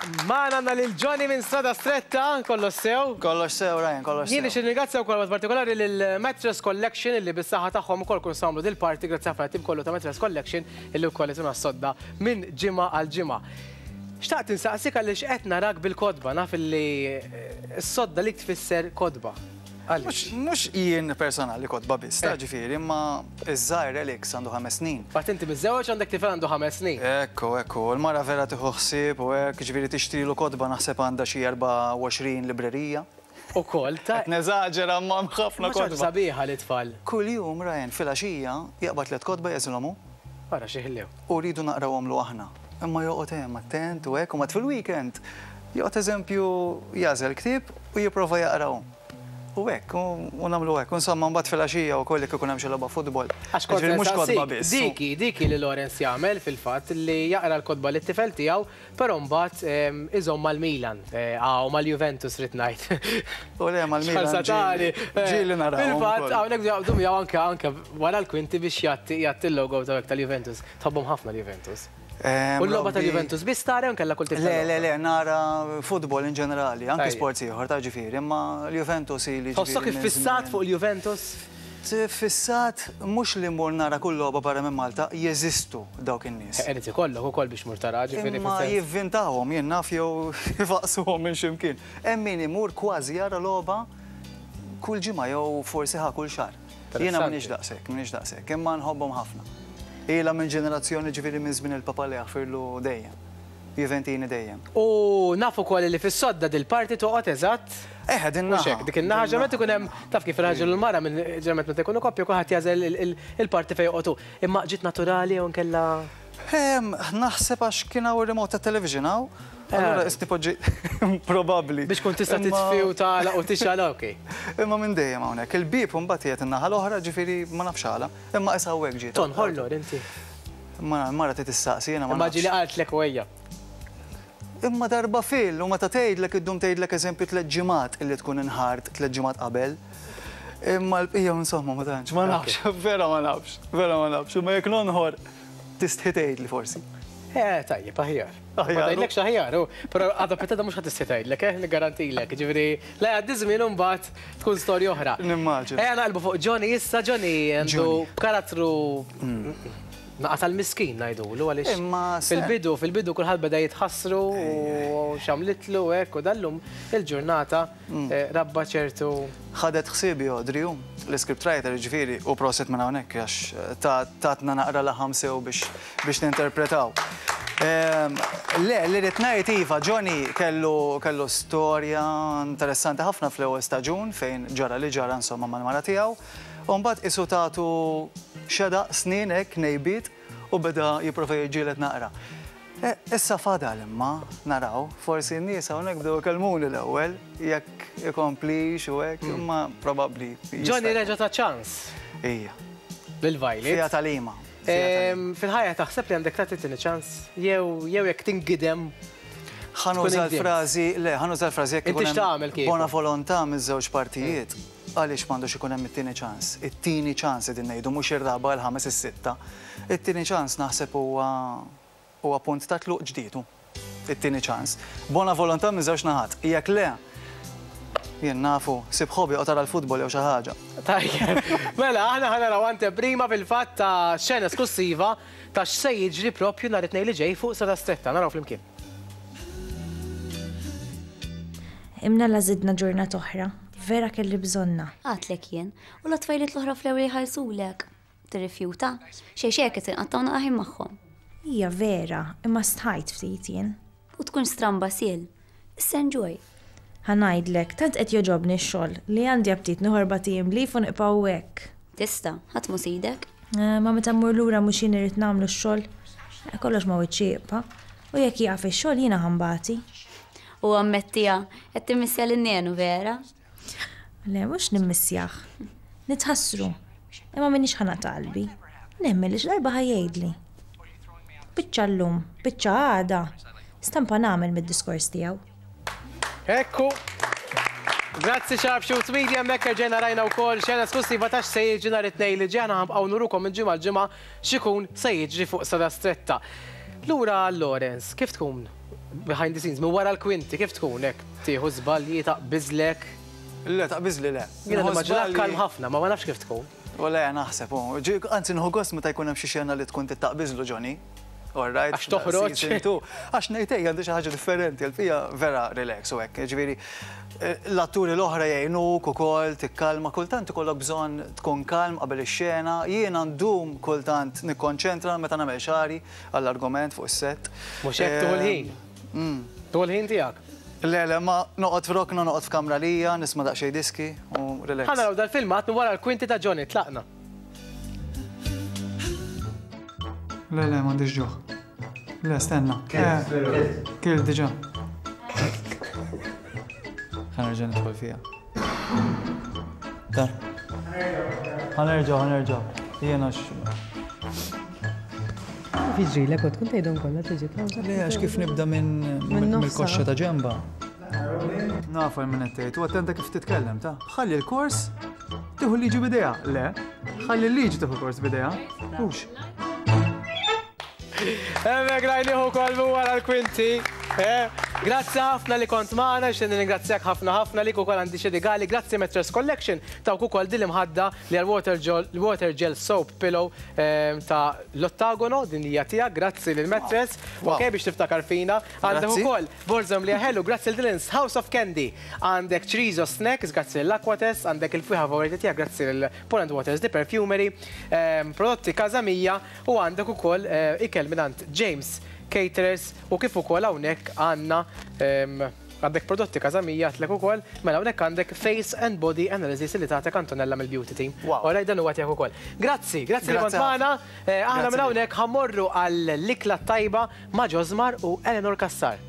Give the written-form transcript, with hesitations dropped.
Magħna għandna lil Johnny minn Strada Stretta, kollox sew? Kollox sew, Ryan, kollox sew. Jien nixtieq nirringrazzja wkoll b'mod partikolari lil Mattress Collection illi bis-saħħa tagħhom ukoll kun nagħmlu dil-party, grazzi ħafna lit-tim kollu ta' Mattress Collection illi wkoll ituna s-sodda minn ġimgħa għal ġimgħa. Xtaqt insaqsik għaliex qed narak bil-kotba, naf illi s-sodda lik tfisser kotba. Għaliex? Mhux jien personali kotba biss, ta' ġifieri, imma iż-żgħir Alex għandu ħames snin. Fatt inti miżżewweġ għandek tifel għandu ħames snin. Ekku, ekku, il-mara vera tieħu ħsieb u hekk, ġifieri tixtrilu kotba naħseb għandha xi 24 librerija. Ukoll ta' Qed neżaġera imma hemm ħafna Imma xi ħaġa kotba. sabiħa lit-tfal. Kuljum, Ryan, filgħaxija jaqbad tliet kotba jagħżilhom hu. Ara xi ħlew. U rridu naqrawhomlu aħna. Imma joqgħod hemm attent u hekk, u mbagħad fil-weekend joqgħod eżempju jagħżel ktieb u jipprova jaqra hu. U hekk, u nagħmlu hekk. U insomma mbagħad filgħaxija wkoll jekk ikun hemm xi logħba futbol. Għax kont se Jiġifieri mhux kotba nsaqsik, biss. dik hi, dik hi li Lawrence jagħmel fil-fatt, li jaqra l-kotba lit-tifel tiegħu, però mbagħad iżomm mal-Milan, u mal-Juventus ridt ngħid. U le mal-Milan ġieli, ġieli narahom ukoll. Fil-fatt hawnhekk jaqbdu miegħu anke anke wara l-kwinti biex jgħatti jgħatti l-logo ta' tal-Juventus. Tħobbhom ħafna l-Juventus. U l-logħba tal-Juventus biss tara jew inkella kull tip ta' Le, le, le, nara futbol in ġenerali, anke sports ieħor ta' ġifieri, imma l-Juventus ili ġifieri. Tħossok iffissat fuq il-Juventus? Ffissat mhux li mmur nara kull logħba barra minn Malta, jeżistu dawk in-nies. Irid ikollok ukoll biex tmur tara, ġifieri Imma jivvintahom, jien naf jew ifaqqsuhom minn xi mkien. Hemm min imur kważi jara logħba kull ġimgħa jew forsi ħa kull xahar. Jiena m'iniex daqshekk, m'iniex daqshekk, imma nħobbhom ħafna. Ilha minn ġenerazzjoni ġifieri minn żmien il-Papa li jaħfirlu dejjem. Juventini dejjem. U naf ukoll li fis-sodda dil-parti toqgħod eżatt. Eħe, din naħa. Mhux hekk, dik in-naħa ġeneralment ikun hemm, taf kif ir-raġel u l-mara minn ġeneralment meta jkunu koppja kulħadd jagħżel il-parti fejn joqgħod hu. Imma ġiet naturali jew inkella? Naħseb għax kien hawn ir-remote tat-television hawn, allura qisni poġġi probabbli. Biex tkun tista' titfi u tagħlaq u tixgħel, ok. Imma minn dejjem hawnhekk. Il-bieb imbagħad qiegħed in-naħa l-oħra, ġifieri ma nafx għala, imma qisha hawnhekk ġiet. Tonħor Lor inti? Imma l-mara trid issaqsi, jiena ma nafx. Imma ġieli qaltlek u ejja. Imma darba fil, u meta tgħidlek iddum tgħidlek eżempju tlett ġimgħat illi tkun inħart tlett ġimgħat qabel. Imma l-bqija insomma ma tantx, ma nafx, vera ma nafx, vera ma nafx. Imma jekk nonħor tistħi tgħidli forsi. Eh, tajjeb, aħjar. Ma tgħidlekx aħjar, u però għada pitgħada mhux ħa tistħi tgħidlek, eh, niggarantilek. Jiġifieri, la jgħaddi żmien u mbagħad tkun storja oħra. Nimmaġina. Ejja naqilbu fuq Johnny issa, Johnny għandu karattru naqa tal-miskin ngħidulu għaliex fil-bidu, fil-bidu kulħadd beda jitħassru u x'għamlitlu u hekk u dal-lum il-ġurnata rabba ċertu. Ħadet ħsiebi Audrey hu, l-iscript writer jiġifieri, u prosit minn hawnhekk għax tatna naqra laħam sew biex biex ninterpretaw. Le, li rrid ngħid iva, Johnny kellu kellu storja interessanti ħafna fl-ewwel staġun fejn ġara li ġara insomma mal-mara tiegħu. U mbagħad qisu tatu xedaq snin hekk nejbiet u beda jipprova jiġġieled naqra. Issa fadal imma naraw, forsi n-nies hawnhekk bdew ikellmuni l-ewwel jekk ikomplix u hekk, imma probabbli. Johnny reġa' ta ċans. Ija. Lil Violet. Fiha tagħlima. Fil-ħajja taħseb li għandek tagħti tieni ċans? Jew jew jekk tingidem Ħa nuża l-frażi, le, ħa nuża l-frażi jekk ikun hemm bona volontà miż-żewġ partijiet, għaliex m'għandux ikun hemm it-tieni ċans? It-tieni ċans qegħdin ngħidu, mhux ir-raba', il-ħames, is-sitta. It-tieni ċans naħseb huwa huwa punt ta' tluq ġdid hu. It-tieni ċans. Bona volontà miż-żewġ naħat. Jekk le, jien nafu, sib hobby oqgħod ara l-futbol jew xi ħaġa. Tajjeb. Mela, aħna ħa naraw anteprima fil-fatt ta' xena esklussiva ta' x'se jiġri proprju nhar it-Tnejn li ġej fuq Strada Stretta. Naraw flimkien. Imnalla żidna ġurnata oħra. Vera kelli bżonnha. Għadtlek jien, u la tfajliet l-oħra fl-ewwel jħallsulek. Tirrifjuta? Xejn xejn qed inqattgħu naqa' ħin magħhom. Hija vera, imma stħajt ftit jien. U tkunx stramba Sil. Issa enjoy. Ħa ngħidlek, tant qed jogħġobni x-xogħol, li għandi aptit nieħu erbat ijiem leave u nibqgħu hekk. Tista', ħadd mhu sidek. Imma meta mmur lura mhux jien irrid nagħmlu x-xogħol? Kollox ma' wiċċi jibqa'. U jekk jieqaf ix-xogħol jiena ħa nbati. U ammettiha, qed timmissja lil Nenu vera? Le, mhux nimmissjah. Nitħassru. Imma m'iniex ħa naqta' qalbi. Nemmen li xi darba ħa jgħidli. Biċċa llum, biċċa għada, stampa nagħmel mid-diskors tiegħu. Ekku. Grazzi Sharp Shoots Media, hemmhekk erġajna rajna wkoll xena esklussiva ta' x'se jiġri nhar it-Tnejn li ġej. Aħna ħa nbqgħu nurukom minn ġimgħa għal ġimgħa x'ikun se jiġri fuq Strada Stretta. Lura għal Lawrence, kif tkun behind the scenes, minn wara l-kwinti, kif tkun hekk tieħu żbalji, taqbiżlek? Le, taqbiżli le. Jiena nimmaġinak kalm ħafna, ma ma nafx kif tkun. U le, naħseb, u. Anzi, nieħu gost meta jkun hemm xi xena li tkun taqbiżlu Johnny. All right. Għax toħroġ. Għax ngħid ejja għandi xi ħaġa differenti, għal-fija vera relax u hekk. Ġifieri, l-atturi l-oħra jgħinuk ukoll tikkalma, kultant ikollok bżonn tkun kalm qabel ix-xena. Jiena ndum kultant nikkonċentra meta nagħmel xagħri għall-argument fuq is-sett. Mhux hekk tieħu l-ħin. Tieħu l-ħin tiegħek. Le, le, ma noqgħod f'rokna, noqgħod f'kamra lija, nisma' daqsxejn diski u relax. Ħa naraw dal-filmat minn wara l-kwinti ta' Johnny, tlaqna. Le, le, m'għandix ġuħ. Le, stenna. Kilt diġà. Ħa nerġa' nidħol fiha. Ta. Ħa nerġgħu, ħa nerġgħu. Jiena x. Jiġrilek u tkun tgħidhom kollha tiġi kawża. Le, għax kif nibda minn mill-koxxa ta' ġemba. Nafu minn qed tgħid, u attenta kif titkellem ta' ħalli l-kors tieħu l-liġi b'idejha. Le, ħalli l-liġi tieħu l-kors b'idejha. Hux. Hemmhekk rajnieh ukoll minn wara l-kwinti. Eh, grazzi ħafna li kont magħna, nixtieq nirringrazzjak ħafna ħafna lik ukoll għandi xi rigali. Grazzi Mattress Collection tawk ukoll din l-imħadda li għal water gel, water gel soap pillow eh, ta' l-Ottagono, din hija tiegħek, grazzi lil Mattress. Ok, biex tiftakar fina. Għandek ukoll borża mlija ħelu, grazzi lil Dylan's House of Candy. Għandek Chorizo Snacks, grazzi lil Aquates, għandek il-fwieħa favorita tiegħek, grazzi lil Poland Waters The Perfumery, eh, prodotti Casa Mia U għandek ukoll ikel mingħand James Caterers u kif ukoll hawnhekk għandna għandek prodotti Casa Mia għedtlek ukoll, mela hawnhekk għandek Face and Body Analysis li tagħtek Antonella mill-Beauty Team. Alright dan huwa tiegħek ukoll. Grazzi, grazzi li kont magħna. Aħna minn hawnhekk ħa mmorru għall-ikla t-tajba ma' Josmar u Eleanor Cassar.